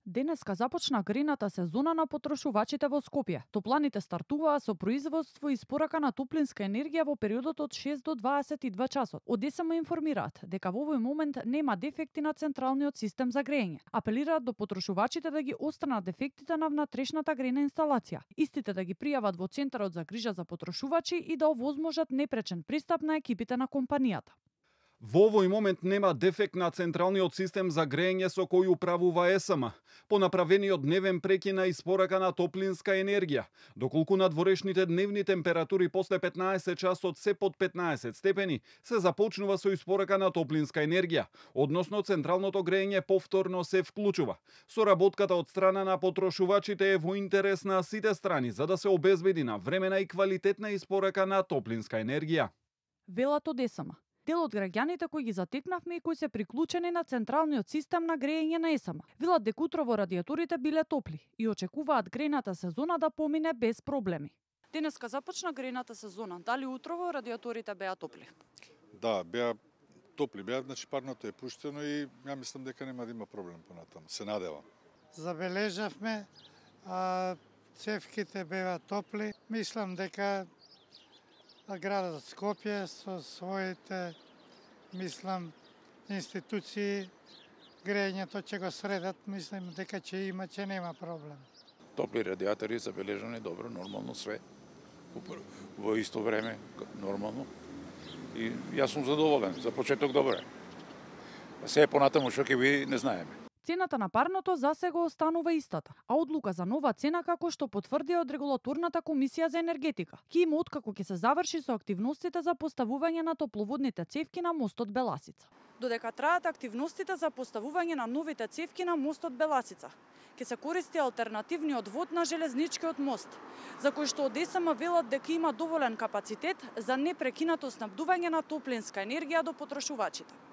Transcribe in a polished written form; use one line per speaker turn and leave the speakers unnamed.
Денеска започна грејната сезона на потрошувачите во Скопје. Топланите стартуваа со производство и испорака на топлинска енергија во периодот од 6 до 22 часот. Од ДСМ информираат дека во овој момент нема дефекти на централниот систем за грејење. Апелираат до потрошувачите да ги отстранат дефектите на внатрешната грејна инсталација. Истите да ги пријават во Центарот за грижа за потрошувачи и да овозможат непречен пристап на екипите на компанијата.
Во овој момент нема дефект на централниот систем за грејење со кој управува ЕСМ, по направениот дневен прекин на испорака на топлинска енергија, доколку надворешните дневни температури после 15 часот се под 15 степени, се започнува со испорака на топлинска енергија, односно централното грејење повторно се вклучува. Соработката од страна на потрошувачите е во интерес на сите страни за да се обезбеди навремена и квалитетна испорака на топлинска енергија.
Велат од ЕСМ. Дел од граѓаните кои ги затекнавме и кои се приклучени на централниот систем на грејење на ЕСМ, велат дека утрово радиаторите биле топли и очекуваат грејната сезона да помине без проблеми. Денеска започна грејната сезона. Дали утрово радиаторите беа топли?
Да, беа топли, значи парното е пуштено и ја мислам дека нема да има проблем понатаму. Се надевам.
Забележавме, цевките беа топли. Мислам дека градот Скопје со своите, институции, грејењето ќе го средат, мислам дека ќе нема проблем.
Топли радиатори забележани добро, нормално све. Во исто време, нормално. И јас сум задоволен, за почеток добро е. Се понатаму што ќе биде, не знаеме.
Цената на парното засега останува истата, а одлука за нова цена како што потврдија од регулаторната комисија за енергетика ќе има откако ќе се заврши со активностите за поставување на топловодните цевки на мостот Беласица. Додека траат активностите за поставување на новите цевки на мостот Беласица, ќе се користи алтернативниот вод на железничкиот мост, за кој што од ДСМ велат дека има доволен капацитет за непрекинато снабдување на топлинска енергија до потрошувачите.